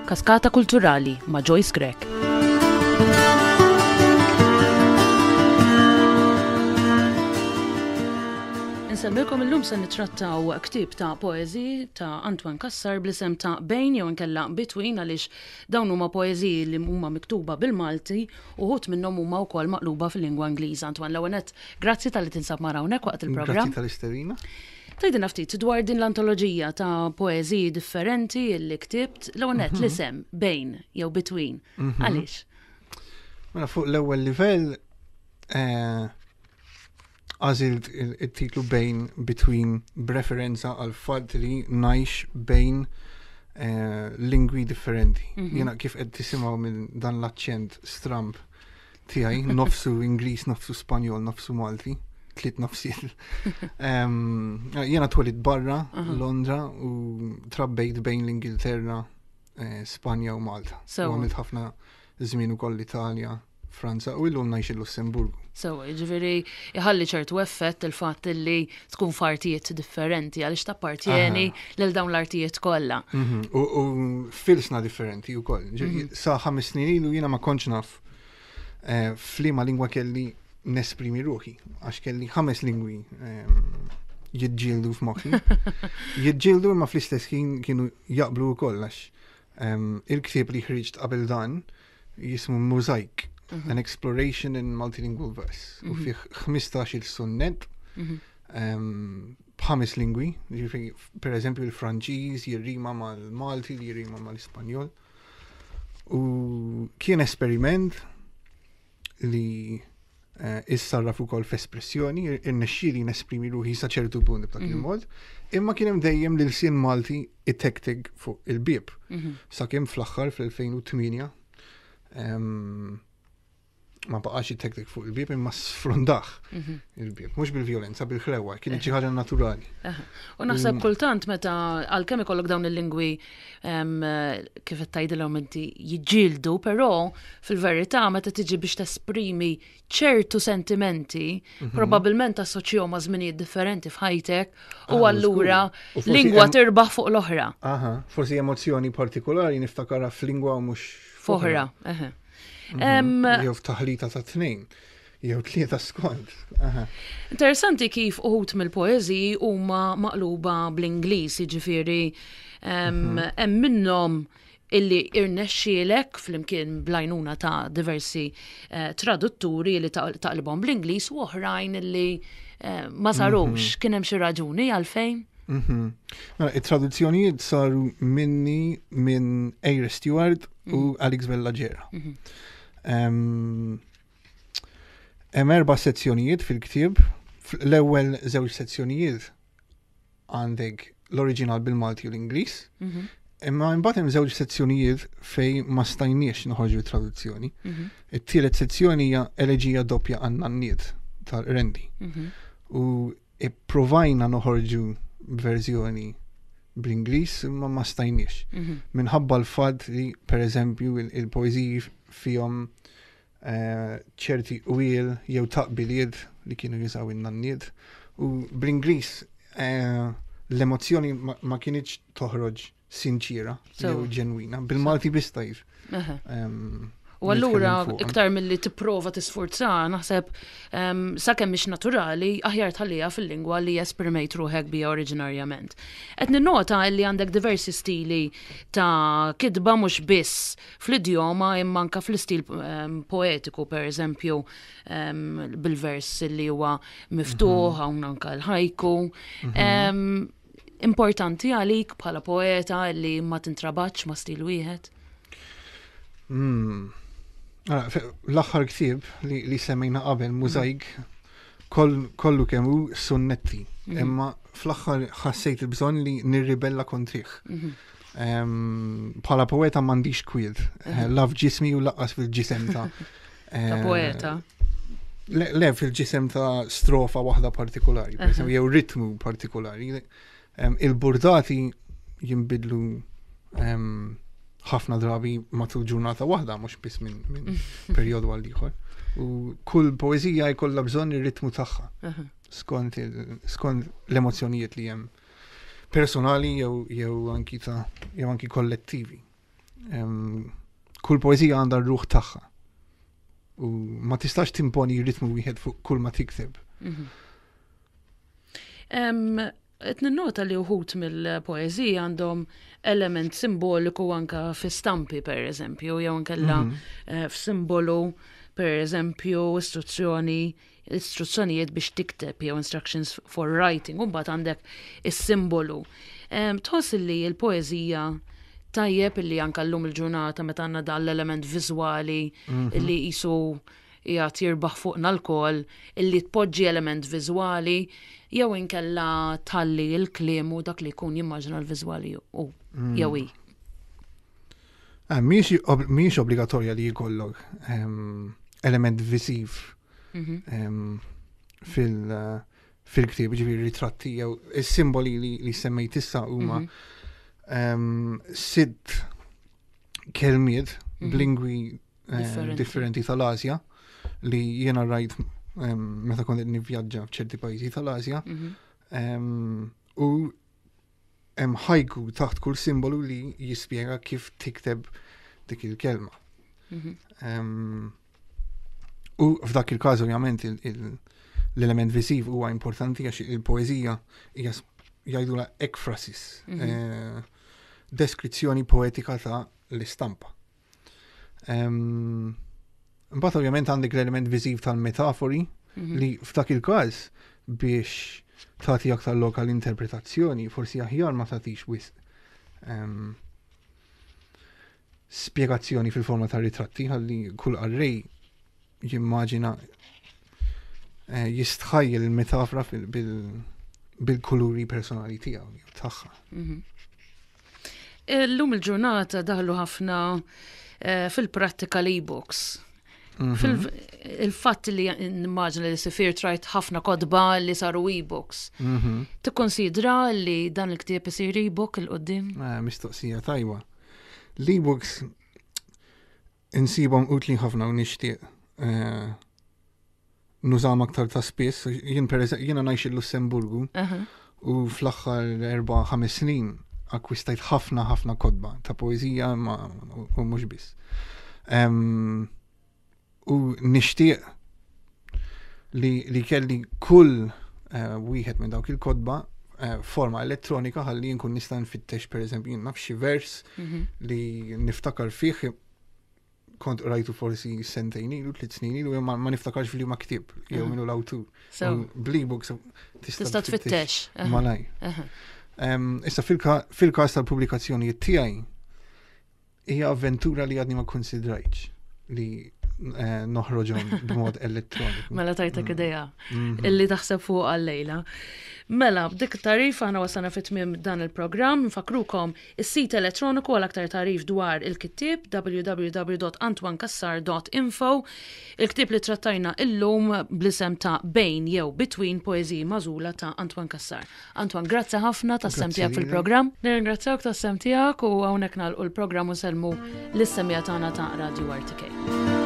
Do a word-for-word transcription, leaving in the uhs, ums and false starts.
Kaskata Kulturali ma' Joyce Grech. Insellmilkom, illum se nittrattaw ktieb ta' poeżiji ta' Antoine Cassar bl-isem ta' Bejn jew inkella Between, għaliex dawn huma poeżiji li huma miktuba bil-Malti u wħud minnhom huma wkoll maqluba fil-lingwa Ingliża. Antoine, l-ewwel nett, grazzi talli tinsab magħna hawnhekk waqt il-programm. Grazzi tal-istedina. Tgħidilna ftit dwar din l-antoloġija ta' poeżiji differenti li ktibt, l-ewwel nett l-isem Bejn jew Between. Għaliex? Mela, fuq l-ewwel livell eh, għażilt il-titlu Bejn, Between, b'referenza għal fatt li ngħix bejn eh, lingwi differenti. Jiena, kif qed tisimgħu minn dan l-aċċent stramp tiegħi, nofsu Ingliż, nofsu Spanjol, nofsu Malti, tliet nofsiet. Em, Jiena twelidt barra, Londra, u trabbejt bejn l-Ingilterra, eh, Spanja u Malta. Sewa. U għamilt ħafna żmien ukoll l-Italja, Franza u illum ngħix il-Lussemburgu. Sewa, jiġifieri iħalli ċertu effett il-fatt li tkun f'artijiet differenti għaliex tappartjeni lil dawn l-artijiet kollha. Mhm. U, u f'ilsna differenti u koll. Sa ħames snin ilu jiena ma kontx naf eh, f'liema lingwa kelli nesprimi ruħi, għax kelli ħames lingwi ehm, jiġġieldu f'moħħi. Jiġġieldu imma fl-istess ħin kienu jaqblu wkoll, għax ehm, il-ktieb li ħriġt qabel dan jismu Mosaic, An Exploration in Multilingual Verse. U fih ħmistax-il sunnet ehm, b'ħames lingwi, ġifieri, per eżempju, il-Franċiż jirrima mal-Malti, li jirrima mal-Ispanjol. U kien esperiment li eh, issarraf ukoll f'espressjoni, irnexxieli nesprimi ruħi sa ċertu punt b'dak il-mod, imma kien hemm dejjem l-ilsien Malti itektek fuq il-bieb. Sakemm fl-aħħar fl-elfejn u tmienja em, ma baqax itektek fuq il-bieb imma sfrundah il-bieb, mhux bil-vjolenza, bil-ħlewa, kienet xi ħaġa naturali. U naħseb kultant meta għalkemm ikollok dawn il-lingwi em, kif qed tgħidilhom inti jiġġieldu, però fil-verità meta tiġi biex tesprimi ċertu sentimenti, probabbilment assoċjahom ma' żminijiet differenti f'ħajtek u Ah, allura żgur. U forsi lingwa hemm- tirbaħ fuq l-oħra. Aha, forsi emozzjoni partikolari niftakarha f'lingwa u mhux F'oħra. Eħe. Em, Jew f'taħlita ta' tnejn, jew tlieta skont. Aha. Interessanti kif uħud mill-poeżiji huma maqluba bl-Ingliż, jiġifieri em, hemm minnhom illi irnexxielek flimkien bl-għajnuna ta' diversi eh, tradutturi li ta- taqlibhom bl-Ingliż u oħrajn illi eh, ma sarux. Kien hemm xi raġuni għalfejn? Mhm. Mela, it-traduzzjonijiet saru minni, minn Eyre Stewart u Alex Vella Gera. Em, Hemm erba' sezzjonijiet fil-ktieb. L-ewwel żewġ sezzjonijiet għandek l-oriġinal bil-Malti u l-Ingliż. Imma imbagħad hemm żewġ sezzjonijiet fejn ma stajniex noħorġu traduzzjoni. It-tielet sezzjoni hija Eleġija doppja għan-nanniet tal-Rendi. U ipprovajna noħorġu verżjoni bl-Ingliż imma ma stajniex. Minħabba l-fatt li, per eżempju, il- il-poeżiji fihom eh, ċerti qwiel jew taqbiliet li kienu jużaw in-nanniet. U bl-Ingliż eh, l-emozzjoni ma, ma kinitx toħroġ sinċira So. jew ġenwina. Bil-Malti biss tajr. Eħe. Em, U allura nitkellem fuqha. iktar milli tipprova tisforza, naħseb um, sakemm mhix naturali, aħjar tħalliha fil-lingwa li esprimejt ruħek bija oriġinarjament. Qed ninnota li għandek diversi stili ta' kitba, mhux biss fl-idjoma imma anka fl-istil um, poetiku, per eżempju, um, bil-vers li huwa miftuħ, hawn anka l-haiku. Um, importanti għalik bħala poeta li ma tintrabatx ma' stil wieħed? Mm. Ara, fe- L-aħħar ktieb li, li semmejna qabel, Mosaic, koll, kollu kemm hu sunnetti. Imma fl-aħħar ħassejt il-bżonn li nirribella kontrih. Em, Bħala poeta m'għandix kwiet. Eh, La f'ġismi u lanqas fil-ġisem ta' Ta' eh, poeta. Le, le fil-ġisem ta' strofa waħda partikolari, per eżempju, jew ritmu partikolari. Em, Il-burdati jimbidlu em, ħafna drabi matul ġurnata waħda, mhux biss minn min perjodu għal ieħor. U kull poeżija jkollha bżonn ir-ritmu tagħha. Skont skont l-emozzjonijiet li hemm personali jew jew anki ta' jew anki kollettivi. Kull poeżija għandha r-ruħ tagħha. U ma tistax timponi ritmu wieħed fuq kull ma tikteb. Mhm. Qed ninnota li uħud mill-poeżija għandhom element simboliku anka fi stampi, per eżempju, jew inkella mm -hmm. f'simbolu, per eżempju, istruzzjoni istruzzjonijiet biex tikteb jew instructions for writing, u mbagħad għandek is-simbolu. Tħoss li l-poeżija tajjeb illi anka llum il-ġurnata, meta għandna dan l-element viżwali mm -hmm. li jisu qiegħed jirbaħ fuqna lkoll, illi tpoġġi element viżwali jew inkella tħalli il-kliem u dak li jkun jimmaġina l-viżwali u mm. jew i? Ah, mhix obbligatorja li jkollok element viżiv mhm. fil- fil-ktieb, ġifieri ritratti jew is-simboli li, li semmejt issa huma mhm. sitt kelmiet mhm. b'lingwi eh, differenti tal-Asja li jiena rajt meta kont nivvjaġġa f'ċerti pajjiżi tal-Asja. U hemm haiku taħt kull simbolu li jispjega kif tikteb dik il-kelma. Mhm. U f'dak il-każ, ovvjament, l-element viżiv huwa importanti għax il-poeżija hija, jgħidula, ekphrasis, mhm. eh, deskrizzjoni poetika ta' l-istampa. Mbagħad ovvjament għandek l-element viżiv tal-metafori mhm. li f'dak il-każ, biex tagħti aktar lokal interpretazzjoni, forsi aħjar ma tagħtix wisq um, spjegazzjoni fil-forma ta' ritratti, ħalli kull qarrej jimmaġina, eh, jistħajjel il-metafora bil-kuluri personali tiegħu jew tagħha. Mhm. Illum il-ġurnata daħlu ħafna eh, fil-prattika l-e-books. Mhm. Il-fatt li nimmaġina li sifir trajt ħafna kotba li saru e-books. Mhm. Tikkonsidra li dan il-ktieb isir e-book 'il quddiem? Eh, mistoqsija tajba. L-e-books insibhom utli ħafna u nixtieq eh, nużahom aktar ta' spiss. Jien per jiena ngħix il-Lussemburgu Aha. u fl-aħħar erba' ħames snin akkwistajt ħafna ħafna kotba ta' poeżija ma u mhux biss. Em, U nixtieq li, li kelli kull eh, wieħed minn dawk il-kotba eh, forma elettronika ħalli nkun nista' nfittex, pereżempju, jien naf, xi vers Mhm. li niftakar fih, kont rajtu forsi sentejn ilu, tliet snin ilu, ma, ma niftakarx fil ma ktieb jew Mhm. minnu l-awtur. So, U bl-e-books tista' tista' tfittex. Aha. Malaj. Aha. Em, Issa fil-ka- fil-każ tal-pubblikazzjonijiet tiegħi hija avventura li għadni ma konsidrajtx li eh, noħroġhom b'mod elettroniku. Mela tajtek Mm. ideja Mhm. illi taħseb fuq għal-lejla. Mela, b'dik it-tagħrif aħna wasalna fi tmiem dan il-programm. Nfakrukom is-sit elettroniku għal aktar tagħrif dwar il-kittieb, W W W dot antoine cassar dot info. Il-ktieb li trattajna illum bl-isem ta' Bejn jew Between, poeżiji magħżula ta' Antoine Cassar. Antoine, grazzi ħafna tas-sehem Grazzi tiegħek lilek. fil-programm. Nirringrazzjawk tas-sehem tiegħek u hawnhekk nagħlqu l-programm u nsellmu lis-semmiegħa tagħna ta' Radio R T K.